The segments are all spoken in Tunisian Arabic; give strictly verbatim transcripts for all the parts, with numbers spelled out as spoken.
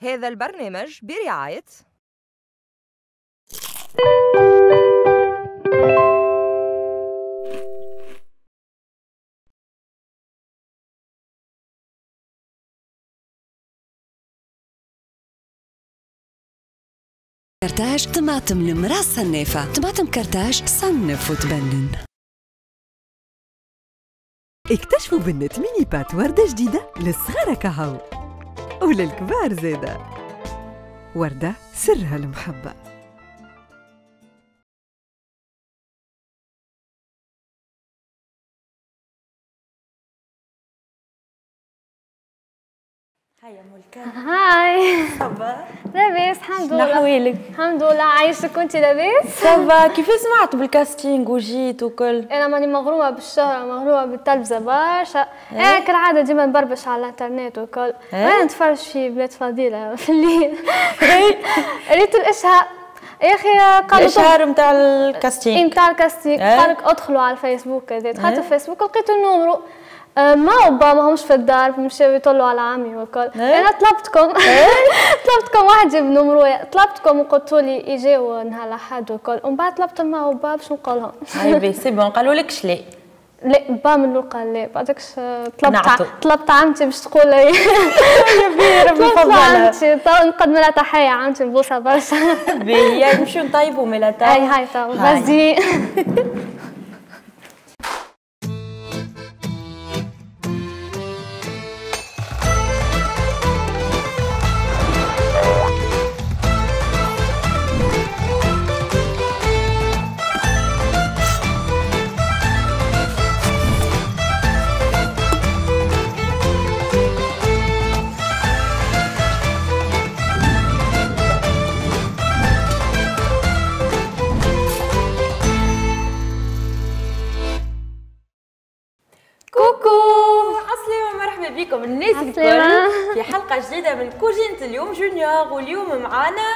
هذا البرنامج برعاية كرتاج طماطم المرأة صنافة، طماطم كرتاج صنف وتبنن. اكتشفوا بنة mini pâtes وردة جديدة للصغار كهو وللكبار زادة. وردة سرها المحبة. هيا ملكة. هاي ça va؟ لاباس الحمد لله. شنو الحمد لله عايشك وانت لاباس؟ ça va. كيف سمعت بال casting وجيت وكل؟ انا ماني مغرومه بالشهره، مغرومه بالتلفزه برشا. انا كالعادة ديما نبربش على الانترنت وكل. انا نتفرج في بلاد فضيلة في الليل. ريت الاشهار يا اخي، قالوا الاشهار نتاع ال casting، نتاع ال casting قالك ادخلوا على الفيسبوك كذا. دخلت الفيسبوك لقيت ال numéro، ما وبا ماهمش في الدار، مشاو يطلوا على عمي وكل. انا طلبتكم طلبتكم واحد جاب numéro، طلبتكم وقلتوا لي يجيو نهار الاحد وكل، ومن بعد طلبت ما وبا باش نقول لهم. اي c'est bon قالوا لك لا؟ لا با من الاول قال لا، بعدكش طلبت طلبت عمتي باش تقول لي. يا بي ربي يفضلها. عمتي نقدم لها تحية، عمتي نبوسها برشا. باهي نمشيو نطيبوا مالا تو. اي هاي تو vas-y. بكم الناس الكل في حلقة جديدة من كوجينة اليوم junior، واليوم معانا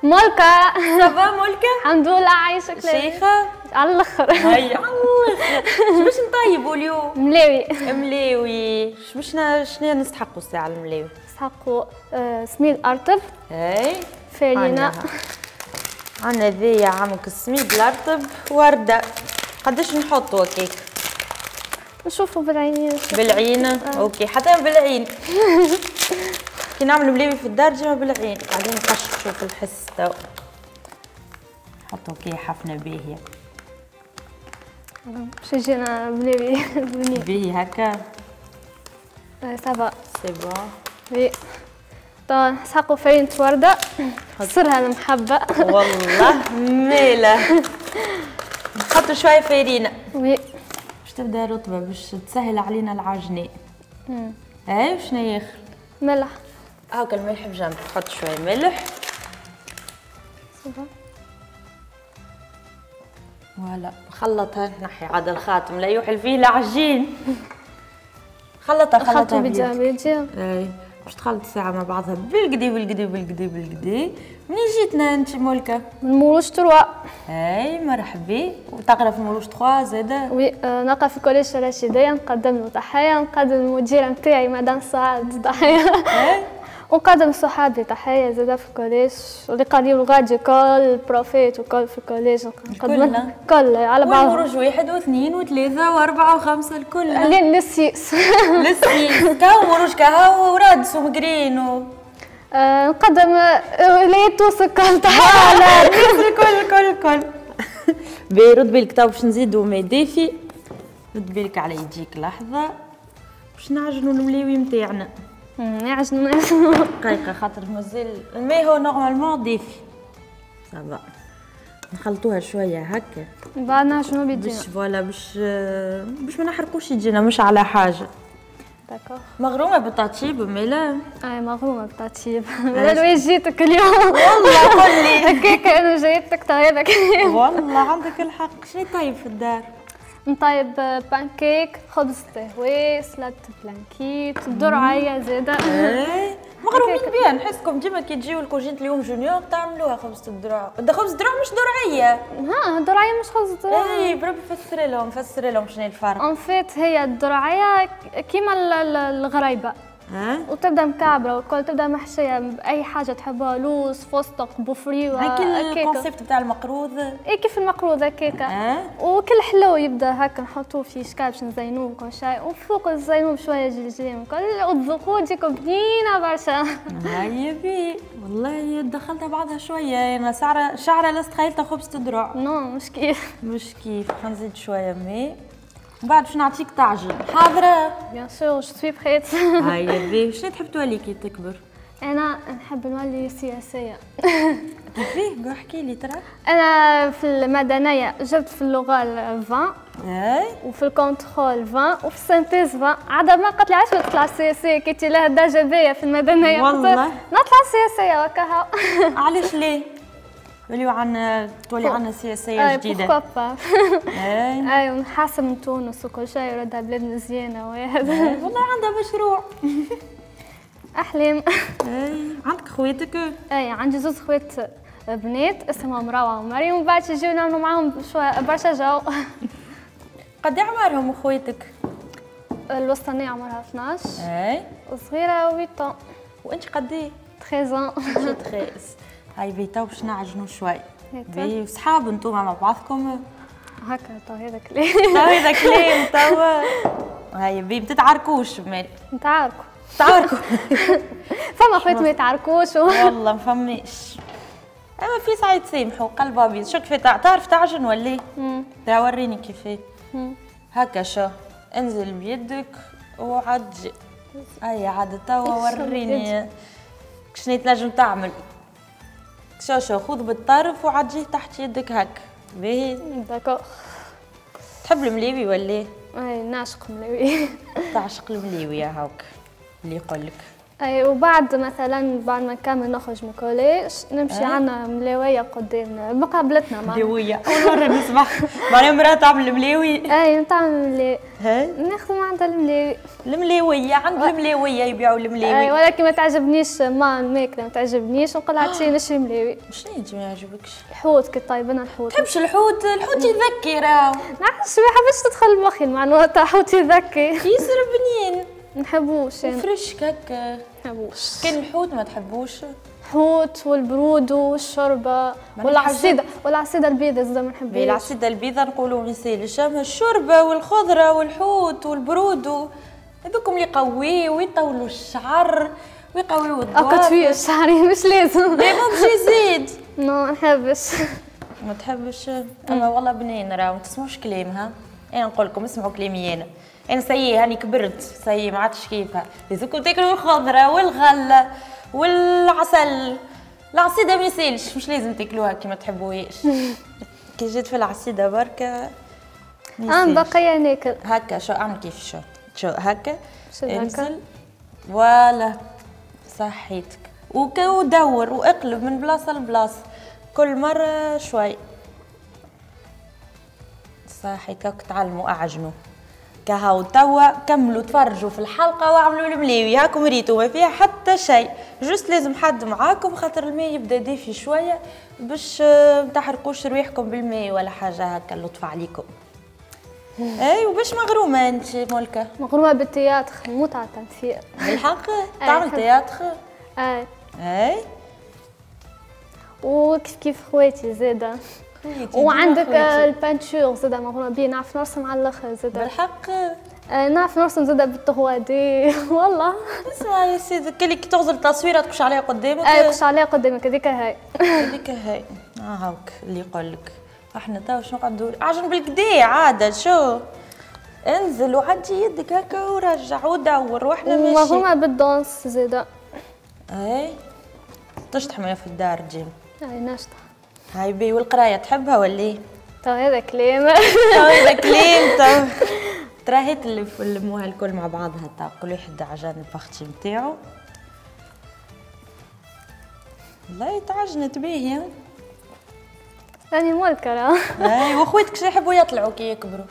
ملكة. ça va ملكة؟ الحمد لله عايشك. شيخة على الاخر. هيا على الاخر. شو باش نطيبوا اليوم؟ ملاوي. ملاوي، شو باش شنو نستحقوا الساعة الملاوي؟ نستحقوا آه سميد ارطب. اي فرينة. عندنا ذي عمك السميد الارطب وردة. قداش نحطوا هكاك؟ نشوفوا بالعين. بالعين آه. OK حتى بالعين. كي نعملوا ملاوي في الدار ديما بالعين، قاعدين نقشقشوا في الحس تو. نحطوا كي حفنة باهيه باش يجينا ملاوي بنين. باهي هكا. ça va c'est bon. oui تو نسحقوا فرينة ورده سرها المحبة. والله ماله. نحطوا شوية فرينه. oui باش تبدا رطبه باش تسهل علينا العجنه. اي وشنو ياخر؟ ملح. هاكا الملح بجنب، تحط شوية ملح. ça va voilà نخلطها، نحي عاد الخاتم لا يوحل فيه العجين. خلطها خلطها بيديها بيديها. اي باش تخلط الساعة مع بعضها بالقدي بالقدي بالقدي بالقدي. منين جيتنا انت ملكه؟ من مروج trois. اي مرحبا. وتقرا في مروج trois زاده؟ oui نقرا في collège الرشيديه. نقدم له تحية، نقدم المديرة نتاعي مدام سعاد تحية. اي ونقدم صحابي تحية زاده في ال collège، واللي قاريين غادي كل profs وكل في ال collège نقدم كل على بعض. مروج واحد واثنين وثلاثة واربعة وخمسة الكل. لل six. لل six كاو مروج كاو ورادس ومقرين و آه نقدم ولاية تونس الكل تحية. لا الكل الكل الكل. باهي رد بالك تو باش نزيدو ماء دافي. رد بالك على يديك لحظة باش نعجنو الملاوي نتاعنا. نعجنو دقيقة خاطر مازال الماء هو normalement دافي. ça va نخلطوها شوية هكا من بعد نعجنو بيدينا باش voilà باش باش ما نحرقوش يدينا مش على حاجة. d'accord. مغرومه بالتطيب مالا؟ اي مغرومه بالتطيب. مالا وين جيتك اليوم؟ والله قول لي هكاك انا جايتك طيبك. والله عندك الحق. شنو طيب في الدار؟ نطيب بانكيك، خبز تهوي، سلطة blanquette، درعيه زاده. اي مغرومين بها، نحسكم ديما كي تجيو لكوجينة اليوم junior تعملوها خبزة الدرع، خبز الدرع مش درعية. ها الدرعية مش خبز الدرع. اي بربي فسري لهم فسري لهم شنو الفرق. en fait هي الدرعية كيما الغريبة. وتبدا مكعبره وكل تبدا محشيه باي حاجة تحبها، لوز، فستق، بوفريوه. هاك ال concept بتاع المقروض. اي كيف المقروض هكاكا. وكل حلو يبدا هكا نحطوه في شكال باش نزينوه وكل شيء، وفوق نزينوه بشوية جلجلين وكل، وتذوقوه تجيكم بنينه برشا. هاي بي والله دخلتها بعضها شوية، انا شعره شعره لا تخيلتها خبز تدرع. non مش كيف مش كيف. خلينا نزيد شوية ماء من بعد باش نعطيك تعجن. حاضره؟ bien sûr je suis prête. هيا بي شنو تحب تولي كي تكبر؟ انا نحب نولي سياسية. كيفاه؟ احكي لي ترى. انا في المدنية جبت في اللغة عشرين، اي، وفي ال contrôle عشرين، وفي ال synthèse عشرين. عاد ما قالت لي علاش ما تطلع سياسية كي انت لها درجه باهيه في المدنية. والله نطلع سياسية وكها. علاش ليه؟ توليو عندنا تولي عندنا سياسية جديدة. pourquoi pas. اي اي ونحاسب تونس وكل شيء وردها بلاد مزيانه وهذا. والله عندها مشروع. احلام. اي عندك خواتك؟ اي عندي زوج خوات بنات اسمهم روعه ومريم، ومن بعد يجيو نعملوا معاهم شوية برشا جو. قد عمرهم خواتك؟ الوسطانيه عمرها اثناش. اي والصغيرة ثمانية. وانت قد ايه؟ ثلاثة عشر. ثلاثة عشر. هاي بيتا باش نعجنوا شوي. بي وصحاب انتوما مع بعضكم هكا تو هذا كلام. تو هذا كلام توا. هاي بي ما تتعاركوش مال. نتعاركوا. تعاركوا. فما خوات ما يتعاركوش. والله ما فماش. اما في ساعة يتسامحوا قلب ابيض. شو كيف تعرف تعجن ولا؟ امم وريني كيفاه. هكا شو انزل بيدك وعدي. اي عاد توا وريني شنو تنجم تعمل. شو شو خذ بالطرف وعديه تحت يدك هك. باهي؟ d'accord. تحب المليوي ولا؟ اي نعشق المليوي. تعشق المليوي هاك اللي يقول لك. اي وبعد مثلا بعد ما نكمل نخرج من ال collège نمشي عندنا ملاويه قدامنا مقابلتنا معناها. ملاويه اول مرة نسمع معناها مراة تعمل الملاوي. اي نتعمل ملاوي. ناخذ من عندها الملاوي. الملاويه عند الملاويه يبيعوا الملاوي. اي ولكن ما تعجبنيش ما الماكلة ما تعجبنيش نقول عاد نشري ملاوي. شنو انت ما يعجبكش؟ الحوت كي طيب انا الحوت. تحبش الحوت؟ الحوت يذكي راهو. نعرفش ما حبيتش تدخل مخي المعلومة تاع حوت يذكي. ياسر بنين. نحبوش يعني. فريش هكا. نحبوش. كان الحوت ما تحبوش؟ الحوت والبرود والشوربه والعصيده والعصيده البيضاء زاده ما نحبهاش. العصيده البيضاء نقولوا ما يسالش، اما الشوربة والخضره والحوت والبرود هذوكم اللي يقويو ويطولوا الشعر ويقويو الضوافر. هكا تفيه الشعر مش لازم. لا مو باش يزيد. non ما نحبش. ما تحبش؟ اما والله بنين راهو ما تسمعوش كلامها. انا نقول لكم اسمعوا كلامي انا. انا ça y est هاني كبرت ça y est ما عادش كيفها. لازمكم تاكلوا الخضرة والغلة والعسل. العصيده ما يسالش، مش لازم تاكلوها كي ما تحبوهاش. كي جيت في العصيده بركة انا بقية ناكل هكا. شو اعمل كيف شو شو هكا انزل voilà صحيتك ودور واقلب من بلاصة لبلاصه كل مرة شوي. صحيتك تعلموا اعجنوا كهو. توا كملوا تفرجوا في الحلقة واعملوا الملاوي. هاكم ريتوا ما فيها حتى شيء، juste لازم حد معاكم خاطر الماء يبدا دافي شوية باش ما تحرقوش رواحكم بالماء ولا حاجة هكا. اللطف عليكم. اي وباش مغرومه انت ملكه؟ مغرومه بال théâtre، نموت على التمثيل. بالحق تعمل théâtre؟ اي اي وكيف كيف خواتي زاده. وعندك ال peinture زاده مغرومه بيه، نعرف نرسم على الاخر زاده. بالحق؟ آه نعرف نرسم زاده بال trois D. والله اسمع يا سيدي كلي كي تغزل التصويره تقش عليها قدامك. اي تقش عليها قدامك هذيك هاي. هذيك هاي اه هاوك اللي يقول لك احنا تو شنو نقعدوا عجن بالكدا عادة. شو انزل وعدي يدك هكا ورجع ودور واحنا ماشيين. ومغرومه بال danse زاده. اي تشطح معايا في الدار جيم؟ اي نشطح. هاي بي. والقرايه تحبها ولا؟ تو هذا كلام. تو هذا كلام. تو تراهيت اللي لموها الكل مع بعضها تا كل واحد عجن ال partie نتاعو. والله تعجنت باهيه. راني ملكه راه. اي واخواتك شنو يحبوا يطلعوا كي يكبروا؟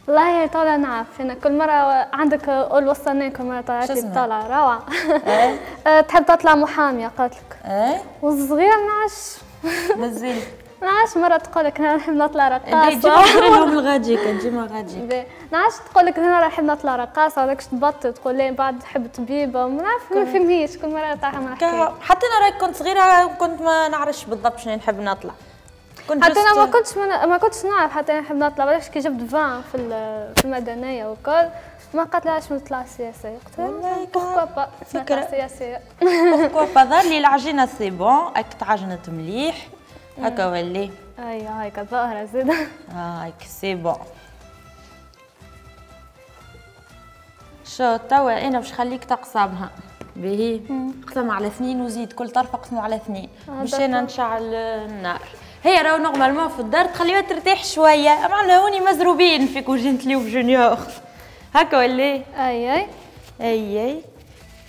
والله طالع نعرف انا كل مرة عندك قول وصلناك كل مرة طلعت لي طالعه روعه. تحب تطلع محاميه قالت لك. ايه والصغيرة ما نعرفش. مازال نعرفش مرة تقول لك انا نحب نطلع رقاصه. ديما لهم الغاديك ديما غاديك. نعرفش تقول لك انا نحب نطلع رقاصه هذاك تبطل تقول لي بعد تحب طبيبه ما نعرف ما فهميش كل مرة تعمل حكاية. حتى انا راك كنت صغيرة كنت ما نعرفش بالضبط شنو نحب نطلع. كنت حتى انا ما كنتش من... ما كنتش نعرف حتى انا نحب نطلع علاش كي جبت عشرين في في المدنية وكل ما قالت نطلع سياسية قلت لها pourquoi pas فكرة سياسية pourquoi pas. ظهر لي العجينة c'est bon هاك تعجنت مليح هكا ولي اي هايك الظاهرة زاده هايك c'est bon. شو توا انا باش نخليك تقسمها باهي قسمها على اثنين وزيد كل طرف قسمه على اثنين باش انا نشعل النار. هي راهو normalement في الدار تخليها ترتاح شوية اما هوني مزروبين في كوجينة اليوم junior هكا ولا اي اي اي اي.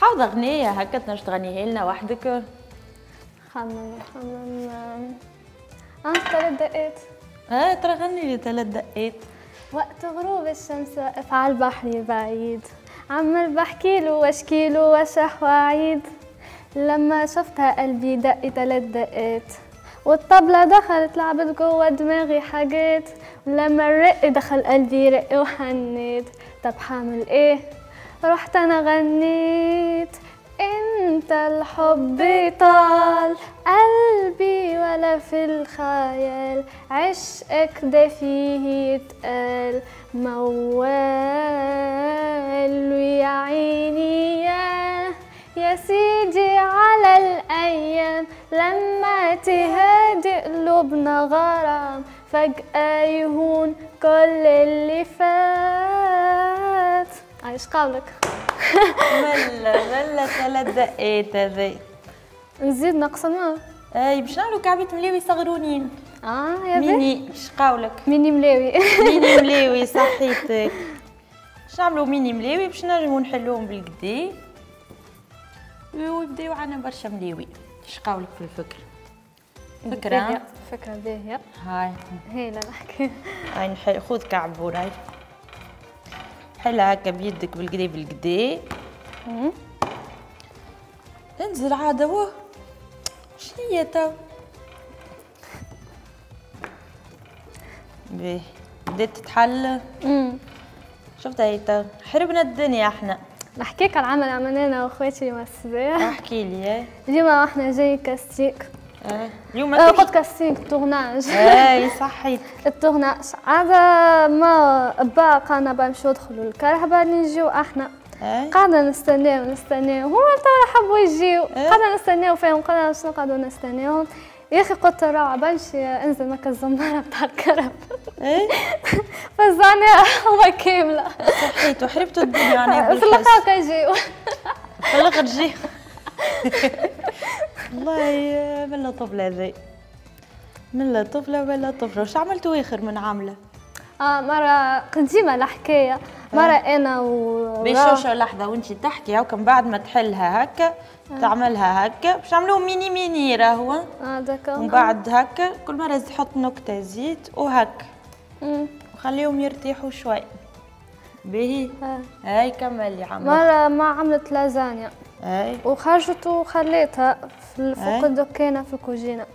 حافظه اغنية هكا تنجم تغنيها لنا وحدك؟ خمم خمم عندي ثلاث دقات. اه ترى غني لي ثلاث دقات. وقت غروب الشمس واقف على البحر بعيد عمال بحكيله واشكيله واشرح واعيد لما شفتها قلبي دق ثلاث دقات والطبلة دخلت لعبت جوه دماغي حاجات ولما الرق دخل قلبي رق وحنيت طب حعمل ايه رحت انا غنيت انت الحب طال قلبي ولا في الخيال عشقك ده فيه يتقال موال ويا عيني يا يا سيدي على الايام لما تهادي قلوبنا غرام فجأة يهون كل اللي فات. عايش قولك ملا ملا ثلاث دقات هذي نزيد نقسمها. اي باش نعملو كعبة ملاوي صغرونين. اه يا ميني اش قولك؟ ميني ملاوي ميني ملاوي صحيتك. باش نعملو ميني ملاوي باش نجمو نحلوهم بالقدي ويبداو عندنا برشا ملاوي. اش قولك في الفكرة؟ فكرة فكرة باهية. هاي هايلة الحكاية. هاي نحل خذ كعبور هاي حلها هكا بيدك بالقدي بالقدي. انزل عادة واه شنيا تو باهي بدات تتحل. شفتها هي تو حربنا الدنيا احنا. نحكيك على العمل عملناه انا واخواتي اليوم الصباح. احكي لي. اليوم احنا جاي casting. اه اليوم قلت casting tournage. اي صحيت ال tournage عادة ما با قالنا با نمشيو ندخلوا الكرهبة نجيو احنا. قعدنا نستناو نستناو هما توا حبوا يجيو قعدنا نستناو فيهم قلنا باش نقعدوا نستناوهم يا اخي قلت روعة بنمشي انزل مكا الزمارة بتاع الكرهبة. ايه فزعناها هما كاملة. صحيت وحربتوا الدنيا يعني في الاخر كيجيو في الاخر جيو. والله ملا طفلة هذي ملا طفلة ولا طفلة. واش عملتوا آخر من عاملة؟ اه مرة قديمة الحكاية مرة أنا و باش شو لحظة وأنت تحكي هاكا من بعد ما تحلها هكا آه. تعملها هكا باش نعملوه mini mini راهو. اه d'accord. ومن بعد هكا كل مرة تحط نكتة زيت وهكا وخليهم يرتاحوا شوي. باهي آه. هاي كملي عملت. مرة ما عملت لازانيا اي وخرجت وخليتها في فوق الدكانة في الكوجينة.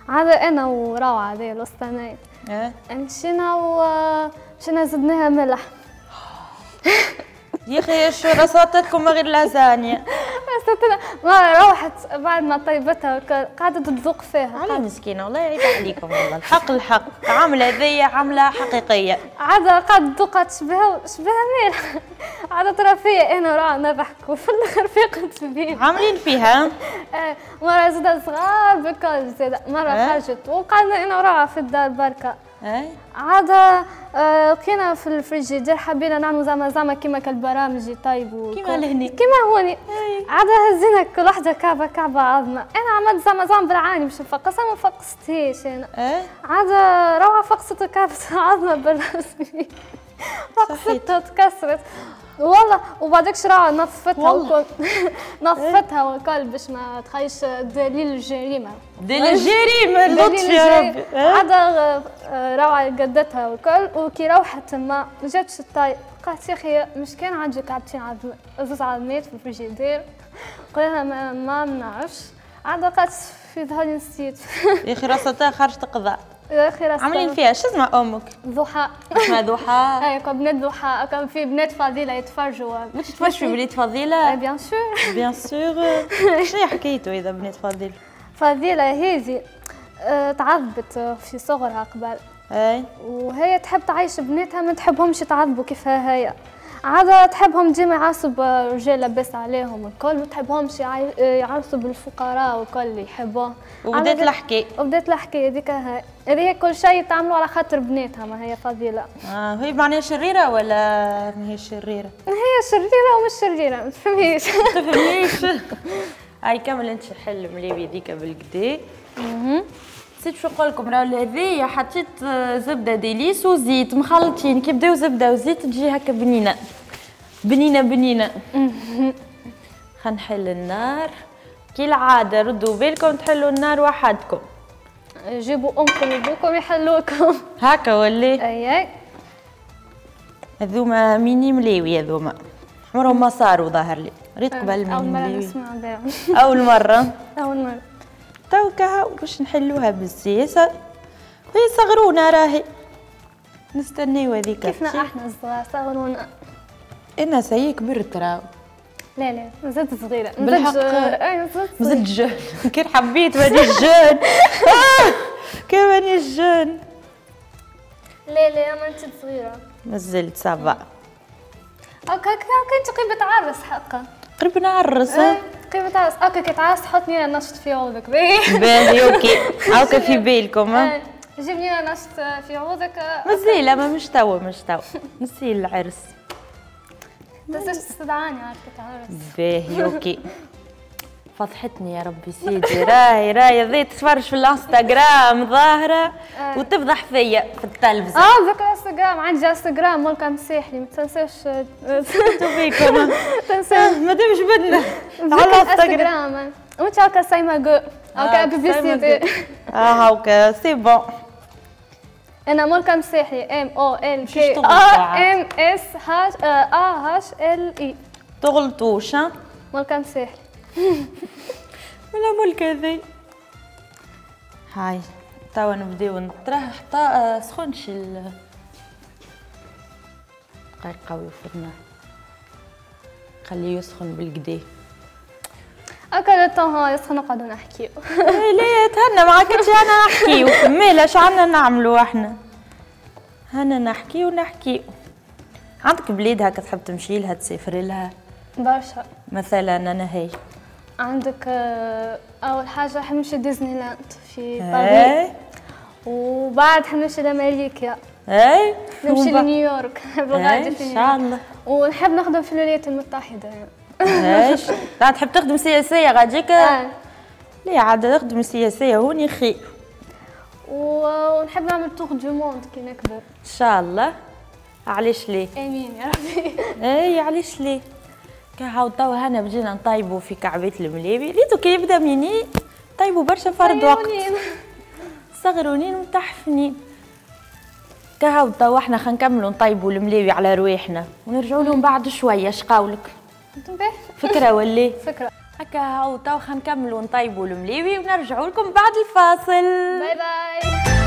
عادة أنا وروعة هذه الوسطانية مشينا ومشينا زدناها ملح. يا اخي شو رصاتكم غير لازانيا؟ رصاتنا ما روحت بعد ما طيبتها قعدت تذوق فيها. على مسكينه والله عيب عليكم والله الحق الحق عامله هذيا عامله حقيقية. عادة قعدت تذوقها تشبهها شبهها مالح. عادة ترى فيا انا وروعة نضحك وفي الاخر فاقت بيا. عاملين فيها؟ مرة زادة صغار بكل زادة مرة خرجت وقعدنا انا وروعة في الدار بركة. عادة لقينا في الفريجيدير حبينا نعملوا زعما زعما كيما كالبرامج يطيبوا كيما لهني كيما هوني. عادة هزينا كل وحدة كعبة كعبة عظمة، أنا عملت زعما زعما بالعاني باش نفقصها ما فقستهاش أنا. عادة روعة فقست كعبة عظمة بالرسمي فقستها تكسرت والله. وبعدك شراع نظفتها وكل نظفتها وكل باش ما تخيش دليل الجريمة. دليل الجريمة اللطف يا ربي. عادة روعه قدتها وكل وكي روحت ما جاتش الطاي قالت يا اخي مش كان عندي كعبتين عظم زوز عظمات في الفريجيدير. قلنا ما, ما نعرفش. عاد قالت في ظهري نسيت. يا اخي رصتها خرجت قضاء. يا اخي رصتها. عاملين فيها شو اسمها امك؟ ضحى. اسمها ضحى. اي بنات ضحى، كان في بنات فضيلة يتفرجوا. ما تتفرجش في بنات فضيلة؟ bien sûr. bien sûr. شنو حكايته اذا بنات فضيلة؟ فضيلة هذه تعذبت في صغرها قبل. اي. وهي تحب تعيش بناتها، ما تحبهمش يتعذبوا كيفها هي. عادة تحبهم ديما يعصب رجال لاباس عليهم الكل، ما تحبهمش يعرسوا بالفقراء والكل اللي يحبوه. وبدات الحكاية. وبدات الحكاية هذيك هاي، هذه كل شيء تعملوا على خاطر بناتها، ما هي فضيلة. اه هي معناها شريرة ولا ما هي شريرة؟ هي شريرة ومش شريرة، ما تفهميش. ما تفهميش. هاي كمل انت حل مليبي هذيك بالكدا. اها. نسيت شو نقول لكم، راهو هذيا حطيت زبدة ديليس وزيت مخلطين، كي بداو زبدة وزيت تجي هكا بنينه بنينه بنينه. خلينا نحل النار كي العادة، ردوا بالكم تحلوا النار وحدكم، جيبوا امكم وابوكم يحلوكم هكا ولا؟ اي اي. هذوما ميني ملاوي، هذوما عمرهم ما صاروا ظاهر لي، ريت قبل ميني اول مرة ملاوي. نسمع بهم. اول مرة. اول مرة. توكا باش نحلوها بالسياسة، وهي صغرونا راهي نستناو هذيك. كيفنا احنا الصغار صغرونا. انا سي كبرت راهو. لا لا مازلت صغيرة. بالحق مازلت مازلت jeune. كي حبيت مانيش jeune. كي مانيش jeune. لا لا ما انت صغيرة. مازلت ça va. هكا كنت قريب تعرس حقا. قريب نعرس. قريب تعرس، okay كي تعرس حطني انا نشط في عوضك. باهي باهي okay، هاكا في بالكم. جيبني انا نشط في عوضك. مازال ما مش توا مش توا نسيل العرس. تنساش تستدعاني عاد كي تعرس. باهي okay. فضحتني يا ربي سيدي، راهي راهي ذي تتفرج في الانستغرام ظاهره وتفضح فيا في التلفزة. اه ذكر انستغرام، عندي انستغرام ملكة مساحلي، ما تنساش. بيكم تنساش مادام جبدنا على الانستغرام. وانت هكا سايما جو هكا publicité. اه هاكا c'est bon. انا ملكة مساحلي M O L K A M S H A H L I. تغلطوش ها؟ ملكة مساحلي. ولا ملك هذي. هاي توا نبداو نطرح حتى سخونش ال دقيقة قوي في خليه يسخن بالكدا. هكا le temps يسخن نقعدو نحكيو. لا تهنى معاك انت، انا نحكيو مالا اش عندنا نعملو احنا؟ هانا نحكيو نحكيو. عندك بلاد هكا تحب تمشي لها تسافر لها؟ برشا. مثلا انا هي عندك اول حاجة حنمشي ديزني لاند في باريس، وبعد حنمشي لامريكا. اي نمشي لنيويورك. نحب غادي في ان شاء الله. ونحب نخدم في الولايات المتحدة. ايش لا تحب تخدم سياسية غاديك؟ اه لا عاد نخدم سياسية هوني خير. ونحب نعمل tour du monde كي نكبر ان شاء الله. علاش ليه؟ امين يا ربي. اي علاش ليه؟ كهاو توا هانا بدينا نطيبوا في كعبات المليبي، ريتو كي يبدا ميني طيبوا برشا فرد وقت. صغرونين ومتحفنين. كهاو توا احنا خلينا نكملوا نطيبوا المليبي على رواحنا ونرجعوا لهم بعد شوية، اش قولك؟ فكرة ولا؟ فكرة. هكا هاو توا خلينا نكملوا نطيبوا المليبي ونرجعوا لكم بعد الفاصل. bye bye.